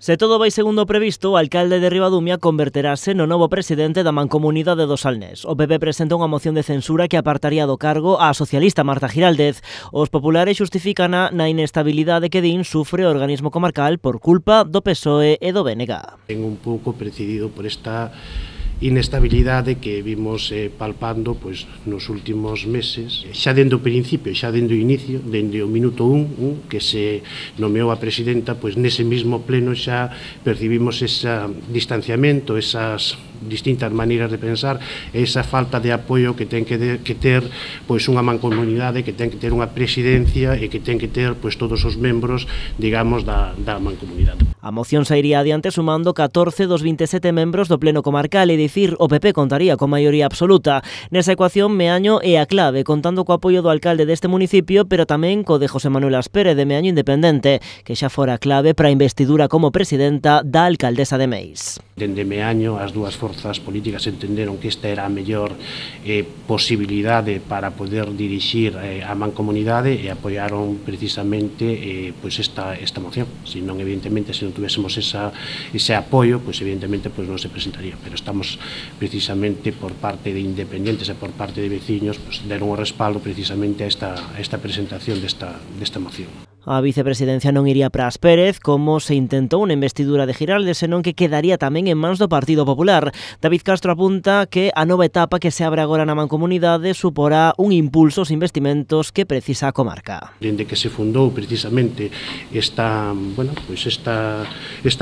Se todo vai segundo o previsto, o alcalde de Ribadumia converterase no novo presidente da Mancomunidade do Salnés. O PP presenta unha moción de censura que apartaría do cargo a socialista Marta Giraldez. Os populares xustificana na inestabilidade que din sufre o organismo comarcal por culpa do PSOE e do BNG. Ten un pouco precedido por esta inestabilidade que vimos palpando nos últimos meses, xa dende o principio, xa dende o inicio, dende o minuto 1 que se nomeou a presidenta, nese mismo pleno xa percibimos ese distanciamento, esas distintas maneiras de pensar, esa falta de apoio que ten que ter unha mancomunidade, que ten que ter unha presidencia e que ten que ter todos os membros, digamos, da mancomunidade. A moción sairía adiante sumando 14 dos 27 membros do pleno comarcal, e dicir, o PP contaría con maioría absoluta. Nesa ecuación, Meaño é a clave, contando co apoio do alcalde deste municipio, pero tamén co de José Manuel Aspérez de Meaño Independente, que xa fora clave para a investidura como presidenta da alcaldesa de Meis. Dende Meaño, as dúas forzas políticas entenderon que esta era a mellor posibilidade para poder dirixir a mancomunidade e apoiaron precisamente esta moción. Senón, evidentemente, se non tuviésemos ese apoio, evidentemente non se presentaría, pero estamos precisamente por parte de independentes e por parte de veciños deron o respaldo precisamente a esta presentación desta moción. A vicepresidencia non iría para Aspérez, como se intentou unha investidura de Giraldez, senón que quedaría tamén en mans do Partido Popular. David Castro apunta que a nova etapa que se abre agora na mancomunidade suporá un impulso aos investimentos que precisa a comarca. Dende que se fundou precisamente esta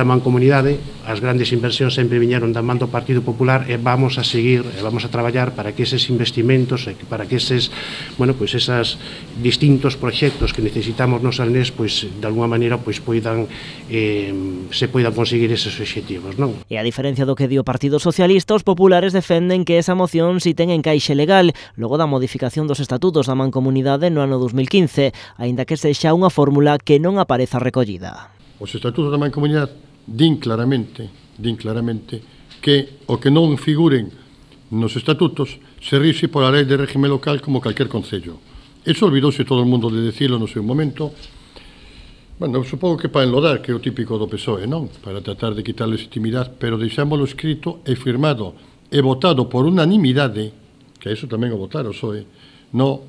mancomunidade, as grandes inversións sempre viñeron da man do Partido Popular, e vamos a seguir, vamos a traballar para que eses investimentos, para que eses distintos proxectos que necesitamos nos de alguma maneira se poidan conseguir eses obxectivos, non? E a diferencia do que di o Partido Socialista, os populares defenden que esa moción si ten encaixe legal logo da modificación dos estatutos da mancomunidade no ano 2015, aínda que sexa unha fórmula que non apareza recollida. Os estatutos da mancomunidade din claramente que o que non figuren nos estatutos se rige pola lei de régimen local como calquer concello. Eso olvidouse todo o mundo de decirlo no seu momento. Bueno, supongo que para enlodar, que é o típico do PSOE, non? Para tratar de quitar legitimidade, pero deixámoslo escrito e firmado e votado por unanimidade, que eso tamén o votaron o PSOE, no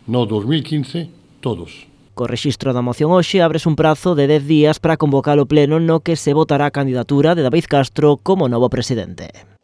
2015, todos. Co rexistro da moción hoxe abres un prazo de 10 días para convocar o pleno no que se votará a candidatura de David Castro como novo presidente.